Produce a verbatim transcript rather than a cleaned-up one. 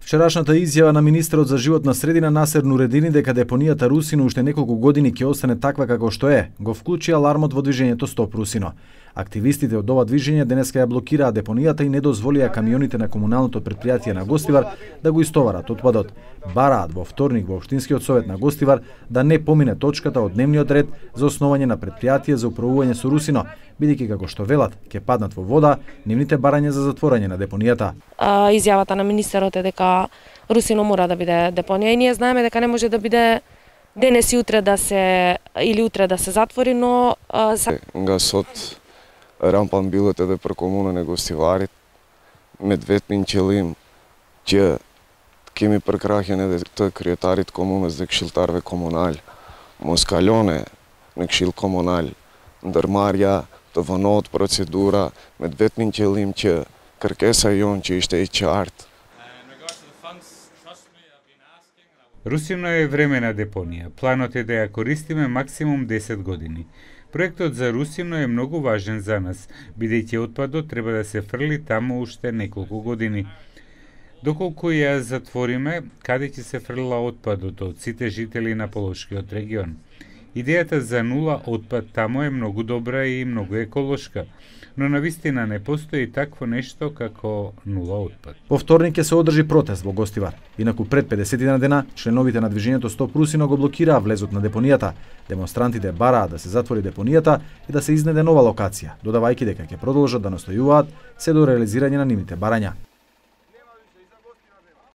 Вчерашната изјава на министерот за животна средина Насер Нуредини дека депонијата Русино уште неколку години ќе остане таква како што е, го вклучи алармот во движењето Стоп Русино. Активистите од ова движење денеска ја блокираа депонијата и не дозволија камионите на комуналното претпријатие на Гостивар да го истоварат отпадот. Бараат во вторник во Општинскиот совет на Гостивар да не помине точката од дневниот ред за основање на претпријатие за управување со Русино, бидејќи како што велат ќе паднат во вода нивните барања за затворање на депонијата. А, изјавата на министерот е дека Русино мора да биде депонија и ние знаеме дека не може да биде денес и утре да се или утре да се затвори, но а, са... гасот рампан билете да прекомуна не Гостиварит, медветмин челим, че кеми прекрахене да тој криетарит комуна за кшилтарве комуналь, москалјоне не кшил комуналь, дърмарја, тованоот процедура, медветмин челим, че каркеса јон, че иште и чарт. Русино е времена депонија. Планот е да ја користиме максимум десет години. Проектот за Русино е многу важен за нас, бидејќи отпадот треба да се фрли таму уште неколку години. Доколку ја затвориме, каде ќе се фрла отпадот од сите жители на Полошкиот регион? Идејата за нула отпад таму е многу добра и многу еколошка, но навистина не постои такво нешто како нула отпад. Во вторник ќе се одржи протест во Гостивар. Инаку пред педесет дена членовите на движењето Стоп Русино го блокираа влезот на депонијата. Демонстрантите бараа да се затвори депонијата и да се изнеде нова локација, додавајќи дека ќе продолжат да настојуваат се до реализирање на нивните барања.